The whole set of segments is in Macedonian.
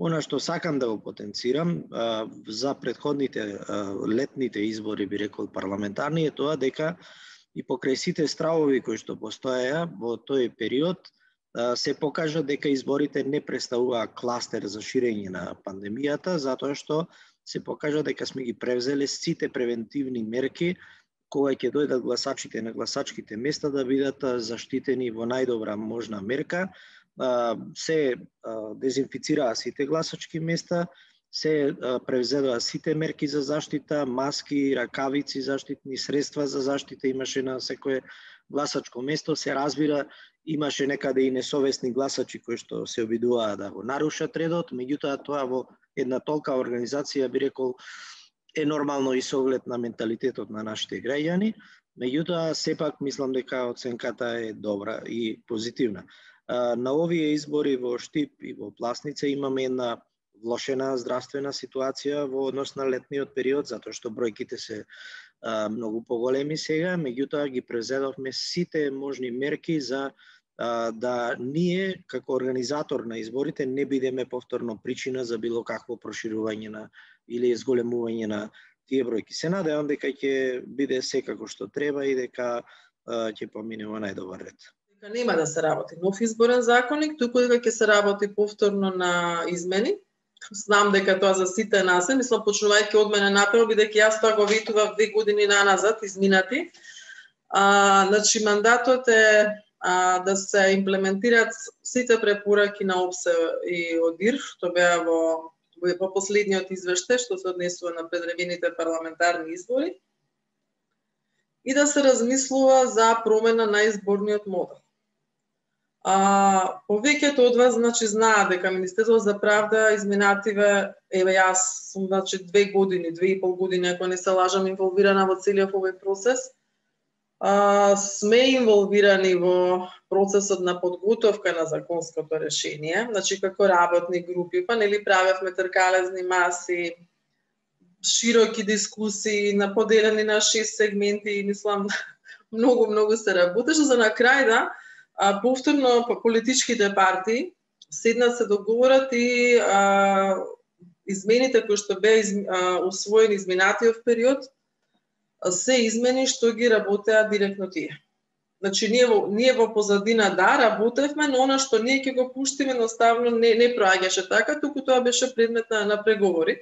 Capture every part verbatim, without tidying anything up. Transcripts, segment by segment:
Она што сакам да го потенцирам за предходните летните избори, би рекол парламентарни, е тоа дека и покрај сите стравови кои што постоеа во тој период, се покажа дека изборите не представуваа кластер за ширење на пандемијата, затоа што се покажа дека сме ги превзеле сите превентивни мерки кога ќе дојдат гласачите на гласачките места да бидат заштитени во најдобра можна мерка. Се дезинфицираа сите гласачки места, се превзедоа сите мерки за заштита, маски, ракавици, заштитни средства за заштита имаше на секое гласачко место. Се разбира, имаше некаде и несовесни гласачи кои што се обидуваа да го нарушат редот, меѓутоа тоа во една толка организација, би рекол, е нормално и со оглед на менталитетот на нашите граѓани, меѓутоа сепак мислам дека оценката е добра и позитивна. На овие избори во Штип и во Пласница имаме една влошена здравствена ситуација во однос на летниот период, затоа што бројките се а, многу поголеми сега, меѓутоа ги презедовме сите можни мерки за а, да ние, како организатор на изборите, не бидеме повторно причина за било какво проширување на или зголемување на тие бројки. Се надевам дека ќе биде секако што треба и дека а, ќе помине во најдобар ред. Дека нема да се работи нов изборен законник, туку дека ќе се работи повторно на измени. Знам дека тоа за сите нас е, мислам почнувајќи од мене напред, бидејќи јас тоа го ветував две години наназад, изминати. А, значи, мандатот е а, да се имплементираат сите препораки на ОПСЕ и ОДИР, што беа во, во последниот извештај, што се однесува на предредените парламентарни избори, и да се размислува за промена на изборниот модел. А, повеќето од вас значи знаат дека Министерството за правда изминативе, еве јас сум значи две години, две и пол години, ако не се лажам, инволвирана во целиот овој процес. А, сме инволвирани во процесот на подготовка на законското решение, значи како работни групи, па нели правевме тркалезни маси, широки дискусии, на поделени на шест сегменти, мислам многу многу се работеше за на крај да А, повторно политичките партии седнат се договорат и а, измените кои што беа из, усвоени изминатиот период се измени што ги работеа директно тие. Значи ние во, ние во позадина да работевме, но она што ние ќе го пуштиме едноставно не не проаѓаше така, туку тоа беше предмет на, на преговори.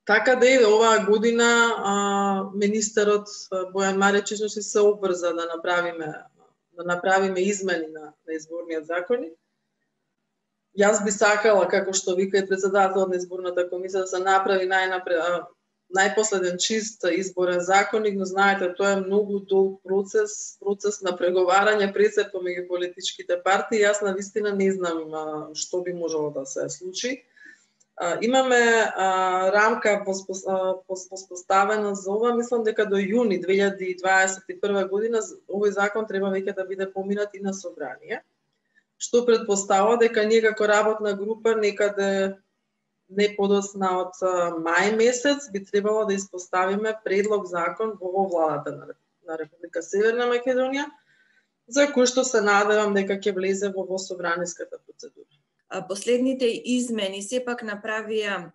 Така да и оваа година а, министерот Бојан Маричич се обврза да направиме да направиме измени на, на изборниот законник. Јас би сакала, како што вика и председателот на изборната комисија, да се направи најнапред, најпоследен чист изборен законник, но знаете, тоа е многу долг процес, процес на преговарање пред се помеѓу политичките партии. Јас навистина не знам а, што би можело да се случи. А, имаме а, рамка воспоставена за ова, мислам дека до јуни две илјади дваесет и прва година овој закон треба веќе да биде поминат и на собрание, што предпоставува дека ние како работна група некаде не подосна од мај месец би требало да испоставиме предлог закон во владата на, на Република Северна Македонија, за кој што се надевам дека ќе влезе во, во собраниската процедура. Последните измени сепак направија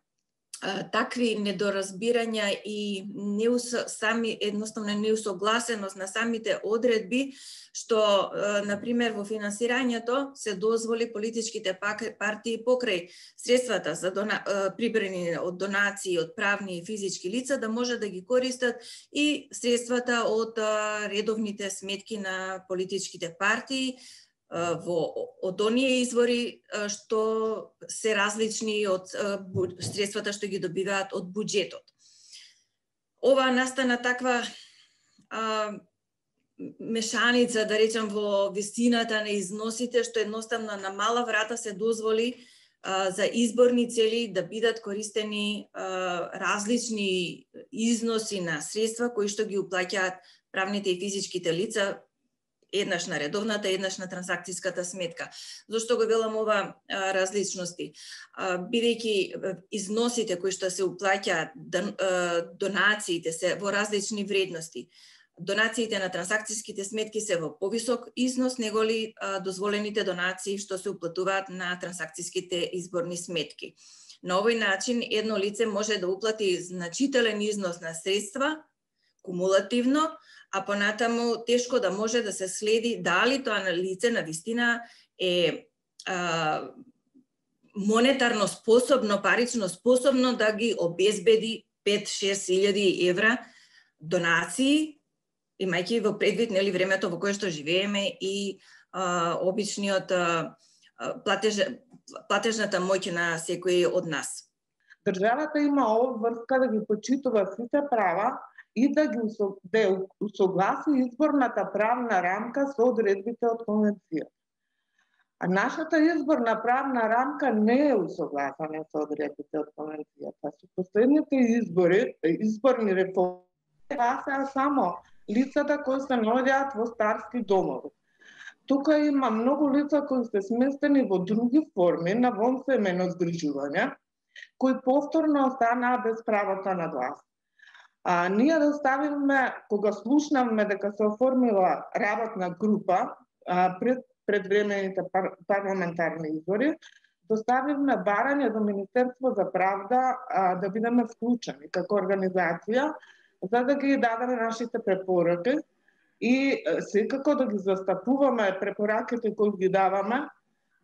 а, такви недоразбирања и неус, сами едноставно неусогласеност на самите одредби, што, а, например, во финансирањето се дозволи политичките партии покрај средствата за дона, а, прибрани од донации од правни и физички лица да може да ги користат и средствата од а, редовните сметки на политичките партии, во од оние извори што се различни од средствата што ги добиваат од буџетот. Ова настана таква а, мешаница, да речам, во висината на износите, што едноставно на мала врата се дозволи а, за изборни цели да бидат користени а, различни износи на средства кои што ги уплаќаат правните и физичките лица, еднаш на редовната, еднаш на трансакцијската сметка. Зошто го велам ова а, различности? А, бидејќи износите кои што се уплаќаат, донациите се во различни вредности, донациите на трансакцијските сметки се во повисок износ неголи дозволените донации што се уплатуваат на трансакцијските изборни сметки. На овој начин едно лице може да уплати значителен износ на средства кумулативно, а понатаму тешко да може да се следи дали тоа лице на вистина е а, монетарно способно, парично способно да ги обезбеди пет-шест илјади евра донации, имајќи во предвид нели времето во кое што живееме и а, обичниот а, платеж, платежната моќ на секој од нас. Државата има обврска да ги почитува сите права и да ги да усогласи изборната правна рамка со одредбите од конвенцијата. А нашата изборна правна рамка не е усогласена со одредбите од конвенцијата. Со последните избори, изборни реформи, гласаа само лицата кои се наоѓаат во старски домови. Тука има многу лица кои се сместени во други форми на вонсемејно згрижување, кои повторно останаа без правото на глас. А, ние доставивме, кога слушнавме дека се оформила работна група а, пред предвремените пар, парламентарни избори, доставивме барање до Министерство за правда а, да бидеме вклучени како организација, за да ги дадеме нашите препораки и секако да ги застапуваме препораките кои ги даваме,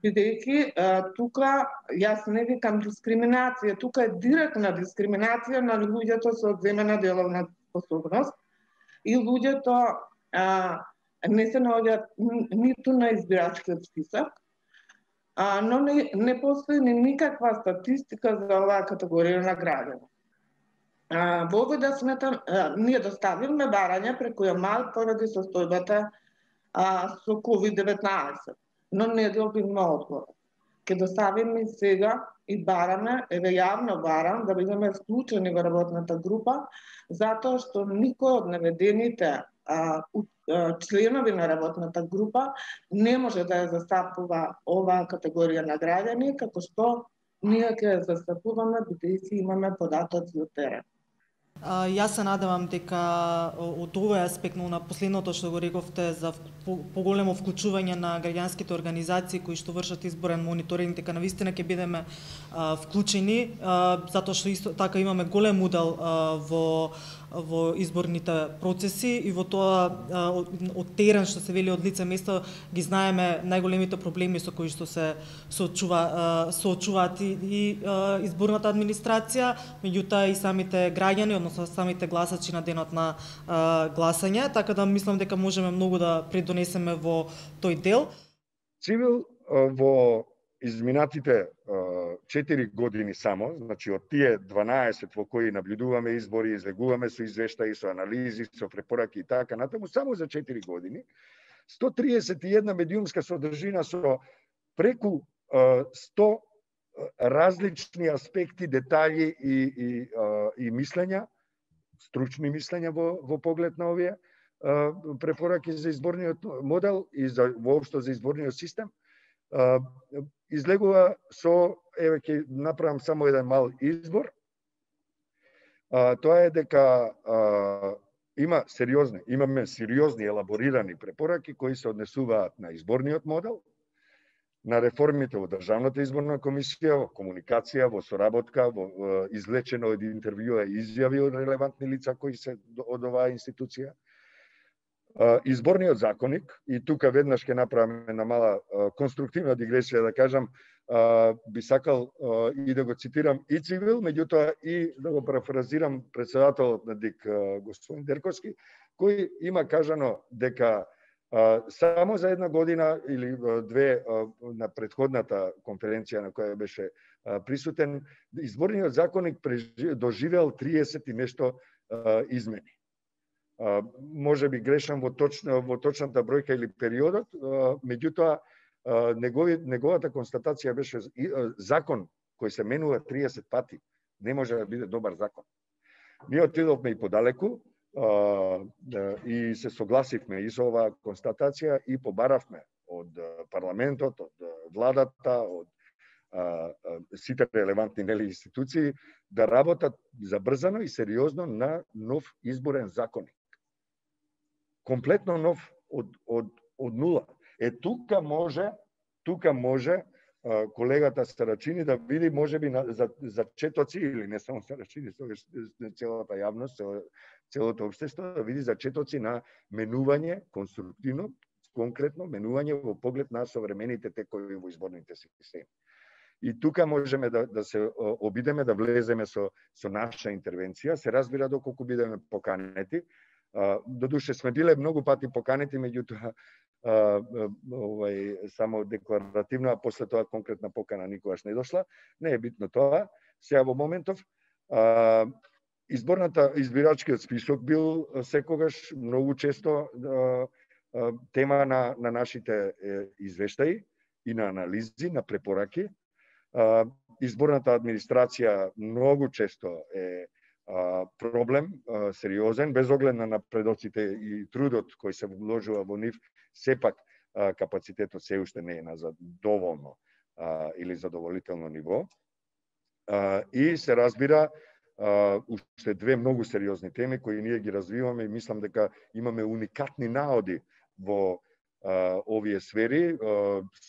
бидејќи тука јас не викам дискриминација, тука е директна дискриминација на луѓето со одземена деловна способност и луѓето а, не се наоѓаат ниту на избирачкиот список, а, но не, не постои ни никаква статистика за оваа категорија на граѓани. Во овој да сметам, а, ние доставивме барање преку ЕМАЛ поради состојбата а, со ковид деветнаесет, но не добивме одговор. Ке доставиме сега и бараме, еве јавно барам, да бидеме вклучени во работната група, затоа што никој од наведените а, а, членови на работната група не може да ја застапува оваа категорија на граѓани, како што ние ќе ја застапуваме бидејќи имаме податоци од терен. А, јас се надевам дека од овој аспект, но на последното што го рековте за поголемо вклучување на граѓанските организации кои што вршат изборен мониторинг, дека навистина ќе бидеме а, вклучени, а, затоа што исто така имаме голем удел а, во во изборните процеси и во тоа од, од терен што се вели од лице место ги знаеме најголемите проблеми со кои што се соочува соочуваат и, и изборната администрација, меѓутоа и самите граѓани, односно самите гласачи на денот на а, гласање, така да мислам дека можеме многу да придонесеме во тој дел. Цивил во изминатите четири години само, значи од тие дванаесет во кои наблюдуваме избори, излегуваме со извештаи, со анализи, со препораки и така натаму, само за четири години, сто триесет и една медиумска содржина со преку сто различни аспекти, детали и, и, и мислења, стручни мислења во, во поглед на овие препораки за изборниот модел и за воопшто за изборниот систем, излегува со, еве ќе направам само еден мал избор, а, тоа е дека а, има сериозни, имаме сериозни елаборирани препораки кои се однесуваат на изборниот модел, на реформите во Државната изборна комисија, во комуникација, во соработка, во, во извлечено од интервјуа и изјави од релевантни лица кои се од оваа институција, изборниот законник, и тука веднаш ќе направам една мала конструктивна дигресија да кажам, би сакал и да го цитирам и Цивил, меѓутоа и да го парафразирам председателот на ДИК господин Дерковски, кој има кажано дека само за една година или две на претходната конференција на која беше присутен, изборниот законник доживеал триесет и нешто измени. Може би грешам во, точна, во точната бројка или периодот, меѓутоа негови, неговата констатација беше закон кој се менува триесет пати не може да биде добар закон. Ние отидовме и подалеку и се согласивме и со оваа констатација и побаравме од парламентот, од владата, од сите релевантни нели институции да работат забрзано и сериозно на нов изборен законник. комплетно нов од од од нула. Е тука може, тука може колегата Сарачини да види можеби за за четоци или не само Сарачини, тогаш целата јавност, целото општество да види за четоци на менување конструктивно, конкретно менување во поглед на современите текови во изборните системи. И тука можеме да, да се обидеме да влеземе со, со наша интервенција. Се разбира доколку бидеме поканети. Додуше сме биле многу пати поканети, меѓутоа овај само декларативно, а после тоа конкретна покана никогаш не дошла. Не е битно тоа. Сега во моментов изборната избирачкиот список бил секогаш многу често тема на на нашите извештаи и на анализи, на препораки. Изборната администрација многу често е проблем, сериозен, без оглед на напредоците и трудот кој се вложува во нив, сепак капацитетот се уште не е на задоволно или задоволително ниво. И се разбира уште две многу сериозни теми кои ние ги развиваме и мислам дека имаме уникатни наоди во овие сфери,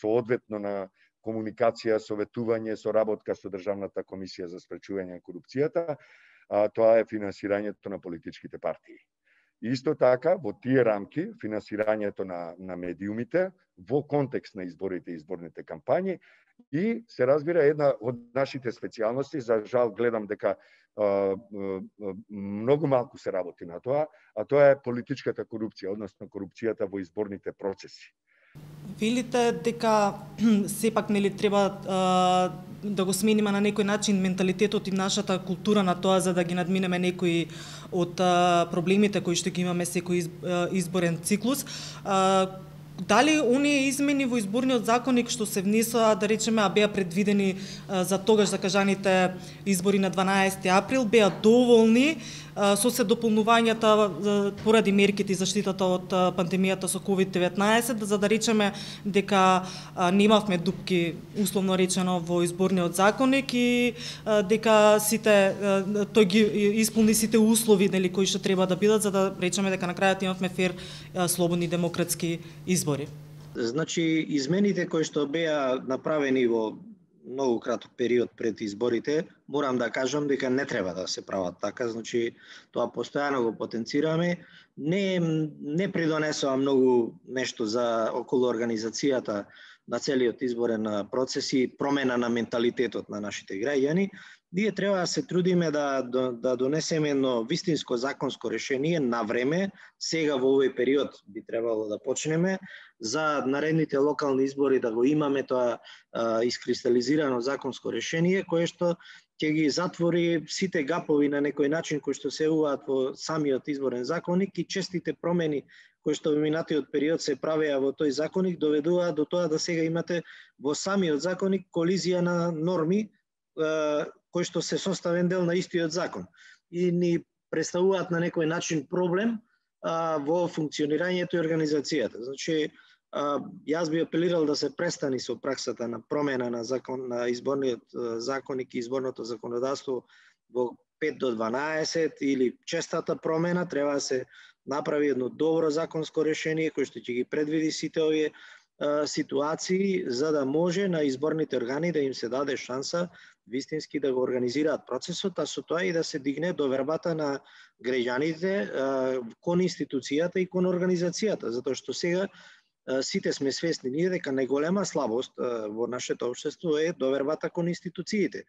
соодветно на комуникација, советување, соработка со Државната комисија за спречување на корупцијата, а тоа е финансирањето на политичките партии. Исто така, во тие рамки, финансирањето на, на медиумите, во контекст на изборите и изборните кампањи, и се разбира една од нашите специјалности, за жал гледам дека а, а, многу малку се работи на тоа, а тоа е политичката корупција, односно корупцијата во изборните процеси. Велите дека сепак нели треба а, да го смениме на некој начин менталитетот и нашата култура на тоа за да ги надминеме некои од а, проблемите кои што ги имаме секој из, а, изборен циклус. А, дали оние измени во изборниот законник што се внесоа, да речеме, а беа предвидени а, за тогаш закажаните избори на дванаесети април, беа доволни а, со се дополнувањата а, поради мерките и заштитата од а, пандемијата со ковид деветнаесет, за да речеме дека а, немавме дупки, условно речено, во изборниот законник и а, дека сите а, тој ги исполни сите услови, нели, кои што треба да бидат, за да речеме дека на крајот имавме фер, а, слободни демократски избори. Значи, измените кои што беа направени во многу краток период пред изборите, морам да кажам дека не треба да се прават така, значи тоа постојано го потенцираме, не не придонесува многу нешто за околу организацијата на целиот изборен процес и промена на менталитетот на нашите граѓани. Ние треба да се трудиме да, да, да донесеме едно вистинско законско решение на време, сега во овој период би требало да почнеме, за наредните локални избори да го имаме тоа а, искристализирано законско решение, кое што ќе ги затвори сите гапови на некој начин кои што се уваат во самиот изборен законник и честите промени кои што во минатиот период се правеа во тој законник доведуваат до тоа да сега имате во самиот законник колизија на норми кои што се составен дел на истиот закон и ни представуваат на некој начин проблем а, во функционирањето и организацијата. Значи, а, јас би апелирал да се престани со праксата на промена на закон на изборниот законник и изборното законодавство во пет до дванаесет или честата промена, треба да се направи едно добро законско решение кој што ќе ги предвиди сите овие а, ситуации за да може на изборните органи да им се даде шанса вистински да го организираат процесот, а со тоа и да се дигне довербата на граѓаните кон институцијата и кон организацијата, затоа што сега сите сме свесни ние дека најголема слабост во нашето општество е довербата кон институциите.